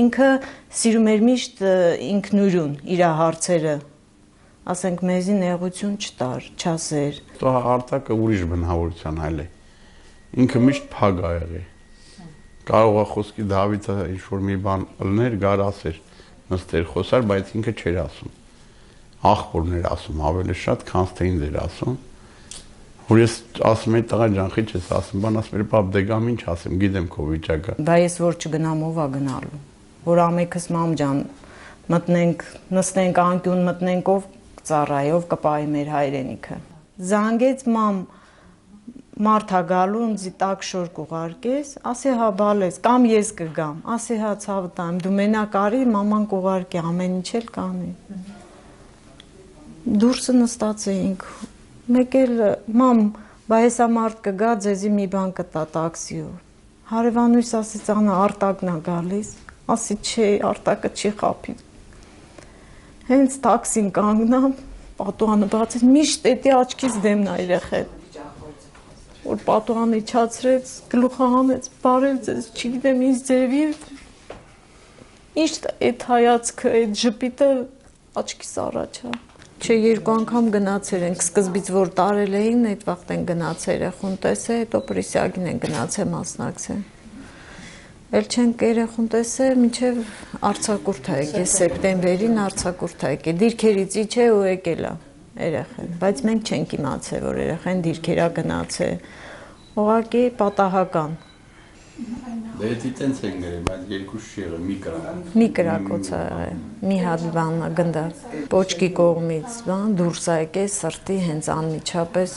Ինքը սիրում էր միշտ ինքնուրույն իր հարցերը, ասենք մեզի նեղություն չտար, չասեր։ Արտակը ուրիշ բնավորության այլ է։ Ինքը միշտ փակ ա եղել։ Կարող է խոսքի Դավիթը ինչ-որ մի բան ըլներ, գար ասեր, նստեր խոսար, բայց ինքը չէր ասում։ Ախորներ ասում, ավելի շատ, քան թե ինձ էր ասում։ Որ ես ասում եի տղա ջան, խիչ ես ասում, բան ասում էր, պապ դե գամ ինչ ասեմ, գիտեմ քո վիճակը։ Բա ես որ չգնամ ով ա գնալու։ Որ ամեքս մամ ջան, մտնենք, նստենք անկյուն, մտնենք ով ծառայի, ով կպահի մեր հայրենիքը։ Զանգեց մամ Մարթա գալու ինձի տակ շոր կուղարկես, ասի հա բալես, կամ ես կգամ, ասի հա ցավը տամ, դու մենակ արի, մաման կուղարկի, ամեն ինչ էլ կանի։ Դուրսը նստած էինք, մեկ էլ մամ, բա հեսա մարդ կգա, ձեզի մի բան կտա տաքսիով։ Հարևանույս ասեց Անա Արտակն ա գալիս, ասի չէ, Արտակը չի խափի։ Հենց տաքսին կանգնամ, պատուհանը բացեց, միշտ էդի աչքից դեմն ա երեխեն։ Որ պատուհանը իջացրեց, գլուխը հանեց, բարև ձեզ, չգիտեմ ինձ ձևի, միշտ այդ հայացքը, այդ ժպիտը աչքիս առաջ ա։ Չէ, երկու անգամ գնացել ենք, սկզբից որ տարել էին, այդ վաղտ են գնացել երեխուն տեսել, հետո Պրիսիագին են գնացել մասնակցել։ Էլ չենք երեխուն տեսել, մինչև արձակուրդ ա եկել, սեպտեմբերին արձակուրդ ա եկել, դիրքերից իջե ու եկել ա երեխեն, բայց մենք չենք իմացել, որ երեխեն դիրքերա գնացել, ուղղակի պատահական։ Դե դի տենց են գրել, բայց երկու շիղը, մի կրակոց ա եղել, մի հատ բան գնդա, պոչկի կողմից բան, դուրս ա եկել սրտի հենց անմիջապես,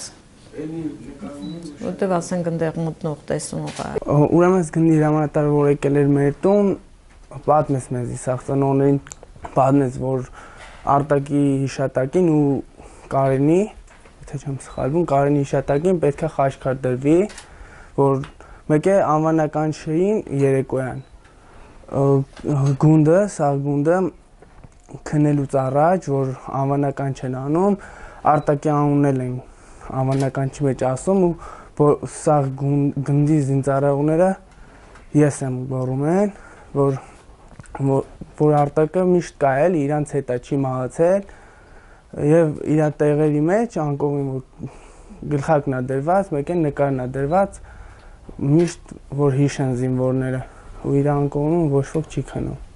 որտև ասենք ընդեղ մտնող տեսնող ա։ Ուրեմն ես գնդի հրամանատարը, որ եկել էր մեր տուն, պատմեց մեզի սաղծանողներին, պատմեց, որ Արտակի հիշատակին ու Կարենի, թե չեմ սխալվում, Կարենի հիշատակին պետք է խաչքար դրվի, որ մեկ է անվանական չէին երեկոյան։ Գունդը, սաղ գունդը քնելուց առաջ, որ անվանական չեն անում, Արտակի անուննել են անվանականչի մեջ ասում ու սաղ գնդի զինծառայողները ես եմ գոռում են, որ Արտակը միշտ կայել, իրանց հետա չի մահացել և իր տեղերի մեջ անկողին որ գլխակն ա դրված, մեկ են նկարն ա դրված, միշտ որ հիշեն զինվորները ու իր անկողին ոչ ոք չի քնում։